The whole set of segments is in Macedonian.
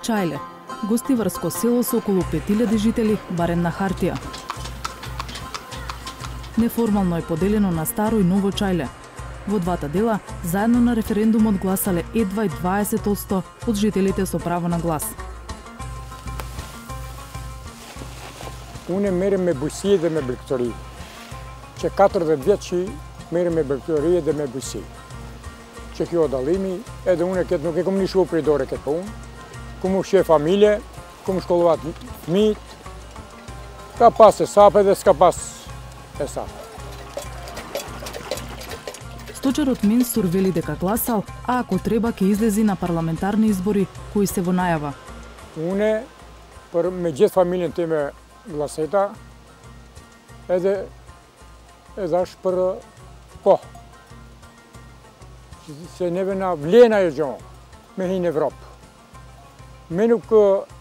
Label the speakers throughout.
Speaker 1: Чајле, гостиварско село со околу 5000 жители, барем на хартија. Неформално е поделено на Старо и Ново Чајле. Во двата дела, заедно на референдумот гласале едва и 20% од жителите со право на глас.
Speaker 2: Уне мериме буси да ме блектори. Че 4 дечи мериме блектори да ме буси. Че ки одалими, еде уне кет но кеком нишо придоре кет по ун. Кому ше фамилија, кому школуват мит. Капас е сапеде, скапас е сапе.
Speaker 1: Сточарот Менсур вели дека гласал, а ако треба ќе излези на парламентарни избори кои се во најава.
Speaker 2: Уне, меѓу фамилијен теме гласета, еде едаш по. Се невена влиена е джон, ме хин Европ. Менук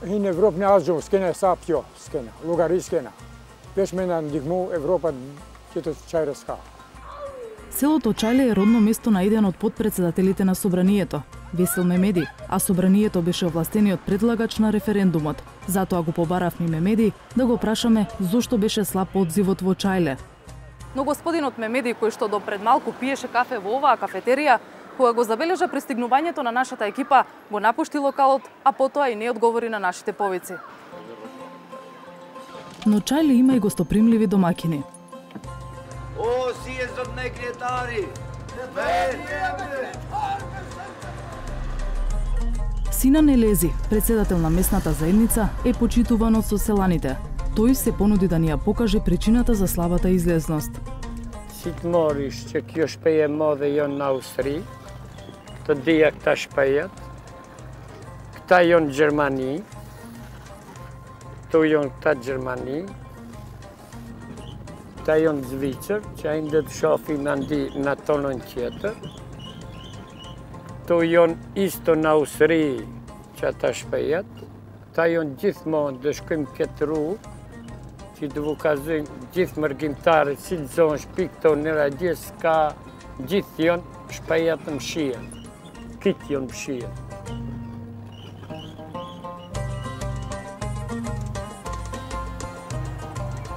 Speaker 2: хин Европ не аз джон, скена сапјо, скена, лугари скена. Пеш менан дигму Европа, кето чајре ска.
Speaker 1: Селото Чајле е родно место на еден од подпредседателите на Собранието, Весел Мемеди, а Собранието беше овластениот предлагач на референдумот. Затоа го побаравме Мемеди да го прашаме зошто беше слаб одзивот во Чајле.
Speaker 3: Но господинот Мемеди, кој што до пред малку пиеше кафе во оваа кафетерија, кога го забележа пристигнувањето на нашата екипа, го напушти локалот, а потоа и не одговори на нашите повици.
Speaker 1: Но Чајле има и гостопримливи домакини.
Speaker 4: О, сијездот некретари!
Speaker 1: Сина Нелези, председател на местната заедница, е почитуван од соселаните. Тој се понуди да ни ја покаже причината за слабата излезност.
Speaker 5: Ситмориш, че ќе шпеje моде јон на Австрии, то дијак та шпејат, кта јон Германии, то јон та Германии, та јон Звицер, че индет шофи манди на тонон тјетер, то јон исто на Австрии, че та шпејат, та јон ģithmon дешким кетру, që të vukazojnë gjithë mërgjimtarët, si të zonë shpikto në radjes, ka gjithë jonë shpejat në mshien. Kitë jonë mshien.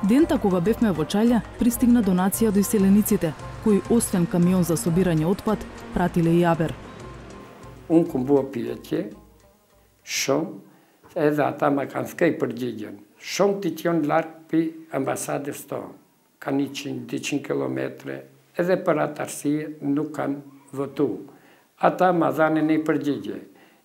Speaker 1: Дента кога бевме во Чајле, пристигна донација до иселениците, кои освен камион за собирање отпад, пратиле и јабер.
Speaker 5: Unë kum bua pyetje, shumë, edhe ata ma kanë skej përgjigjen. Shumë të t'jon larkë për ambasadës tonë, kanë 100-200 kilometre, edhe për atë arsye nuk kanë votu. Ata ma dhanë një përgjigje.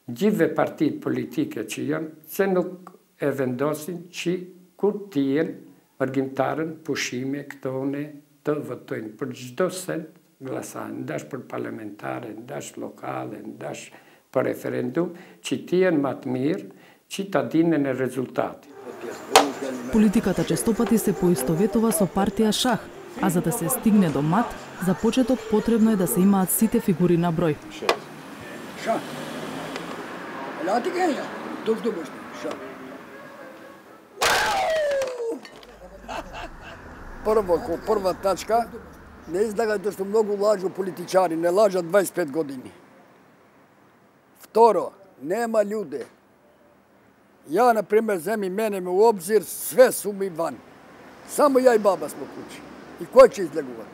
Speaker 5: Gjithve partit politike që janë, se nuk e vendosin që kur t'jen mërgjimtarën pushime këtone të votojnë. Për gjdo sen glasanë, ndash për parlamentare, ndash lokale, ndash për referendum, që t'jen më të mirë, që ta dinë në rezultati.
Speaker 1: Политиката честопати се поистоветува со партија шах, а за да се стигне до мат, за почеток потребно е да се имаат сите фигури на број.
Speaker 6: Шах. Лати геја, довдо беш, шах. Прва тачка, не излагате што многу лажу политичари, не лажат 25 години. Второ, нема људе. Ја, например, земи мене ме у обзир, све су ми ван. Само ја и баба смо куќи. И кој ќе излегуват?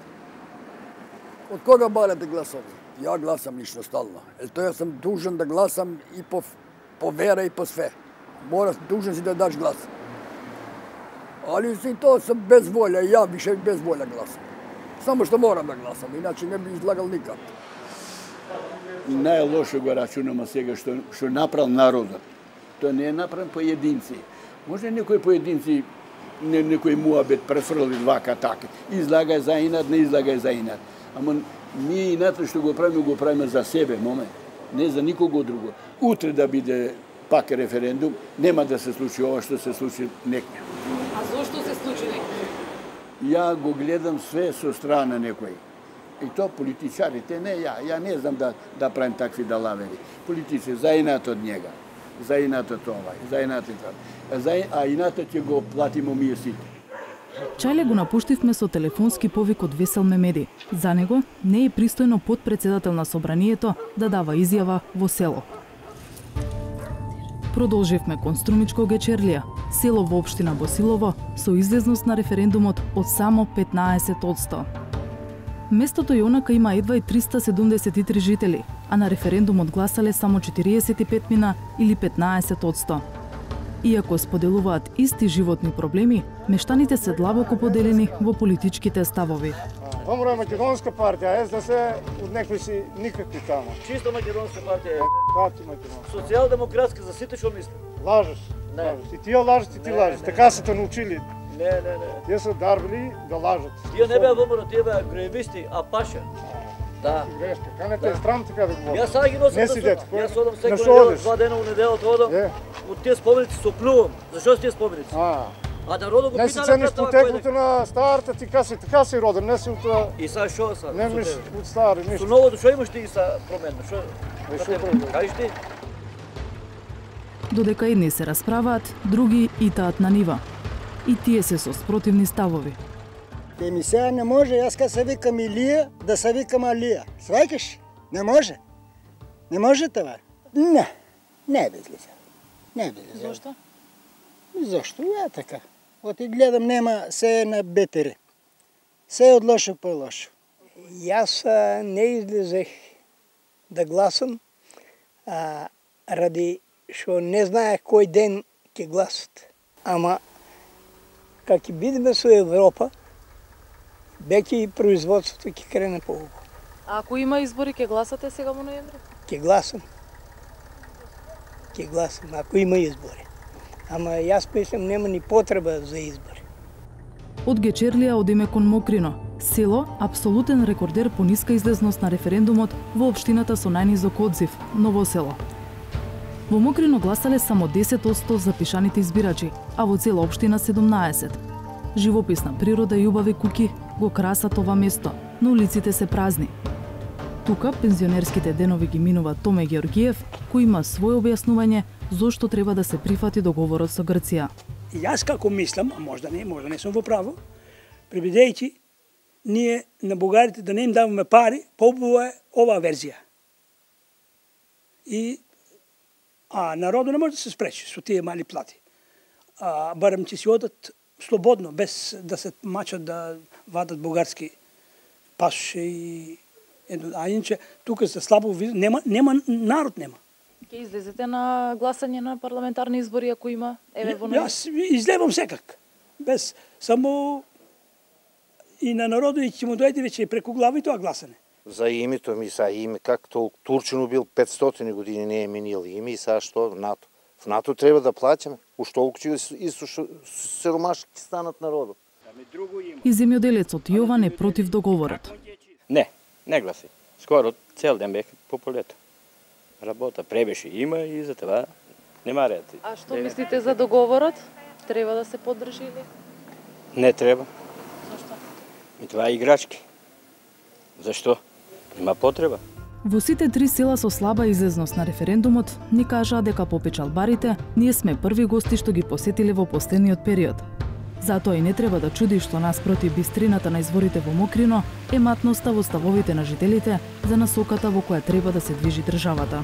Speaker 6: Од кога барате гласови? Ја гласам лично стално. Тоа јас сум дужен да гласам и по вера и по све. Дужен си да даш глас. Али си тоа сум без волја, ја више без волја гласам. Само што морам да гласам, иначе не би излагал никад.
Speaker 7: Најлошо го рачунаме сега што направил народот. Тоа не е направен поединци. Може некои поединци, некој муабет префрли вака така. Излагај за инат, не излагај за инат. Ама ние ината што го правиме за себе, момент. Не за никого друго. Утре да биде пак референдум, нема да се случи ова што се случи некој.
Speaker 3: А зошто се случи некој?
Speaker 7: Ја го гледам све со страна некој. И то политичарите, не ја. Ја не знам да правим такви далавери. Политици, за инат од njega. За инатот овај, за инатот овај. А инатот ќе го платимо ние сите.
Speaker 1: Чајле го напуштивме со телефонски повик од Весел Мемеди. За него не е пристојно подпредседател на Собранието да дава изјава во село. Продолживме кон Струмичко Гечерлија, село во општина Босилово, со излезност на референдумот од само 15%. Местото Јонака има едва и 373 жители, а на референдумот гласале само 45 мина или 15%. Иако споделуваат исти животни проблеми, мештаните се длабоко поделени во политичките ставови.
Speaker 2: Помро е македонска партија, СДС од некои си никакви таму.
Speaker 8: Чисто македонска партија е.
Speaker 2: Пати македонска.
Speaker 8: Социјалдемократска за сите што мисли.
Speaker 2: Лажеш.
Speaker 8: Не.
Speaker 2: Лажеш. И тие лажеш, и ти лажеш. Така се те научили.
Speaker 8: Не.
Speaker 2: Тие се дарбили да лажат.
Speaker 8: Тие не беа ВМРО, тие беа греевисти, а паша. Да.
Speaker 2: Грешка. Канете е странно така да говориш.
Speaker 8: Јас сега ги носам.
Speaker 2: Не си дете.
Speaker 8: Јас одам секој
Speaker 2: На шо
Speaker 8: недела,
Speaker 2: одиш?
Speaker 8: 2 дена у неделата одам. Од тие споменици се оплювам. Зашо се тие споменици? А народот го
Speaker 2: Не си
Speaker 8: питале
Speaker 2: цениш
Speaker 8: пред тоа
Speaker 2: потеклото
Speaker 8: кој
Speaker 2: на старата, ти така си роден, не си од тоа.
Speaker 8: И сега шо са?
Speaker 2: Не миш од стари,
Speaker 8: Со
Speaker 2: ништо.
Speaker 8: новото шо имаш ти са промена? Шо?
Speaker 2: Шо промена?
Speaker 8: Кажеш ти?
Speaker 1: Додека едни се расправаат, други итаат на нива. И тие се со спротивни ставови.
Speaker 9: Ми сега не може, јас кога се викам Илија, да се викам Алија. Сваќаш? Не може. Не може това. Не безлиза. Не безлиза.
Speaker 3: Зошто?
Speaker 9: Зошто? Ја така. Оти гледам, нема се на бетери. Се е од лошо по лошо.
Speaker 10: Јас не излезех да гласам ради што не знаех кој ден ќе гласат. Ама, кога ќе бидеме со Европа, веќе и производството ќе крене поубаво.
Speaker 3: А ако има избори, ќе гласате сега во ноември?
Speaker 10: Ќе гласам. Ќе гласам, ако има избори. Ама јас мислам нема ни потреба за избори.
Speaker 1: Од Гечерлија одиме кон Мокрино, село апсолутен рекордер по ниска излезност на референдумот во општината со најнизок одзив, Ново село. Во Мокрино гласале само 10% запишаните избирачи, а во цела општина 17. Живописна природа и убави куќи го красат ова место, но улиците се празни. Тука пензионерските денови ги минува Томе Георгиев, кој има своје објаснување зошто треба да се прифати договорот со Грција.
Speaker 10: Јас како мислам, а можда не сум во право, пребидејќи ние на бугарите да не им даваме пари, поубава е оваа верзија. А народот не може да се спречи со тие мали плати. Барем ќе си одат слободно, без да се мачат да вадат бугарски пасоше и а иначе тука се слабо нема народ нема.
Speaker 3: Ќе излезете на гласање на парламентарни избори ако има во ноември?
Speaker 10: Јас излевам секак. Без само и на народот ќе му дојде веќе преку глава и тоа гласане.
Speaker 11: За името ми са име, както Турчин бил 500 години не е минил име и сега што в НАТО. В НАТО треба да плаќаме. Уж толку че сиромашки станат народот.
Speaker 1: И земјоделецот Јован е против договорот.
Speaker 12: Не гласи. Скоро цел ден бех по полето. Работа пребеше има и за това нема ред.
Speaker 3: А што мислите за договорот? Треба да се поддржи или?
Speaker 12: Не треба.
Speaker 3: Зашто?
Speaker 12: И това е играчки. Зашто? Има потреба.
Speaker 1: Во сите три села со слаба излезност на референдумот ни кажаа дека по печалбарите ние сме први гости што ги посетиле во последниот период. Затоа и не треба да чуди што наспроти бистрината на изворите во Мокрино е матноста во ставовите на жителите за насоката во која треба да се движи државата.